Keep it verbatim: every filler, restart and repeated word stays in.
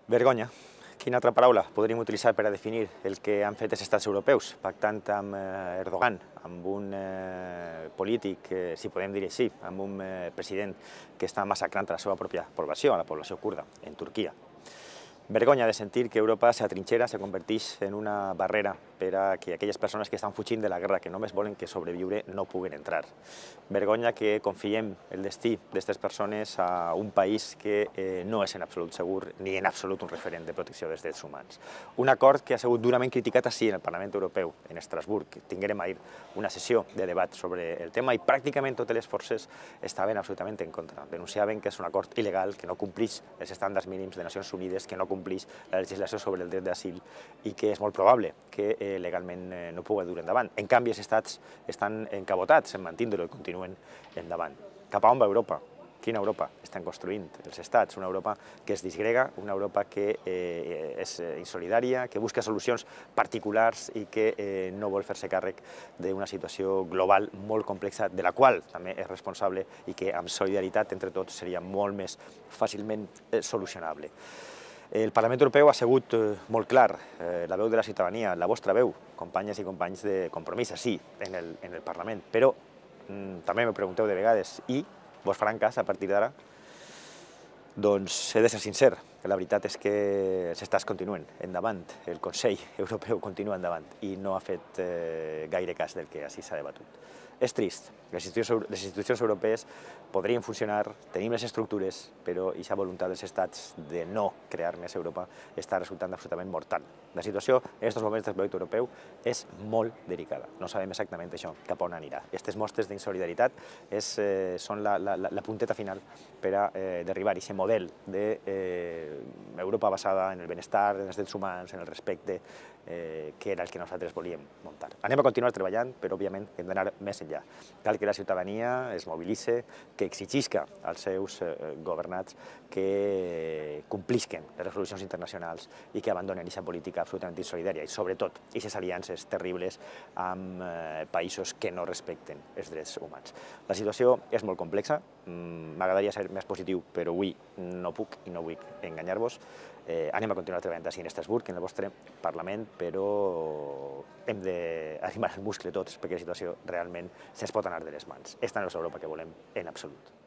Vergonya. Quina altra paraula podríem utilitzar per a definir el que han fet els estats europeus, pactant amb Erdogan, amb un eh, polític, eh, si podem dir així, amb un eh, president que està massacrant la seva pròpia població, a la població kurda, en Turquia. Vergonya de sentir que Europa s'atrinxera, se converteix en una barrera per a que aquelles persones que estan fugint de la guerra, que només volen que sobreviure, no puguen entrar. Vergonya que confiem el destí d'aquestes persones a un país que eh, no és en absolut segur ni en absolut un referent de protecció dels drets humans. Un acord que ha sigut durament criticat així en el Parlament Europeu, en Estrasburg. Tinguérem ahir una sessió de debat sobre el tema i pràcticament totes les forces estaven absolutament en contra. Denunciaven que és un acord il·legal, que no compleix els estàndards mínims de Nacions Unides, que no compleix la legislació sobre el dret d'asil i que és molt probable que eh, legalment eh, no pugui dur endavant. En canvi, els estats estan encabotats en mantenir-ho i continuen endavant. Cap a on va Europa? Quina Europa estan construint els estats? Una Europa que es disgrega, una Europa que eh, és insolidària, que busca solucions particulars i que eh, no vol fer-se càrrec d'una situació global molt complexa, de la qual també és responsable i que amb solidaritat entre tots seria molt més fàcilment eh, solucionable. El Parlament Europeu ha sigut molt clar, eh, la veu de la ciutadania, la vostra veu, companyes i companys de Compromís, sí, en el, en el Parlament. Però mm, també me pregunteu de vegades, i vos faran cas a partir d'ara? Doncs he de ser sincer, que la veritat és que els estats continuen endavant, el Consell Europeu continua endavant i no ha fet eh, gaire cas del que així s'ha debatut. És trist, les institucions, les institucions europees podrien funcionar, tenim les estructures, però aquesta voluntat dels estats de no crear més Europa està resultant absolutament mortal. La situació en aquests moments del projecte europeu és molt delicada. No sabem exactament això, cap on anirà. Aquestes mostres d'insolidaritat és, eh, són la, la, la punteta final per a eh, derribar aquest model d'Europa eh, basada en el benestar, en els drets humans, en el respecte, eh, que era el que nosaltres volíem muntar. Anem a continuar treballant, però òbviament hem d'anar més enllà. Cal que la ciutadania es mobilitze, que exigisca als seus eh, governats que complisquen les resolucions internacionals i que abandonen aquesta política absolutament insolidària i, sobretot, aquestes aliances terribles amb eh, països que no respecten els drets humans. La situació és molt complexa, m'agradaria ser més positiu, però avui no puc i no vull enganyar-vos. Eh, anem a continuar treballant així en Estrasburg, en el vostre Parlament, però hem d'arrimar el muscle tots perquè la situació realment se'ns pot anar de les mans. Esta no és l'Europa que volem en absolut.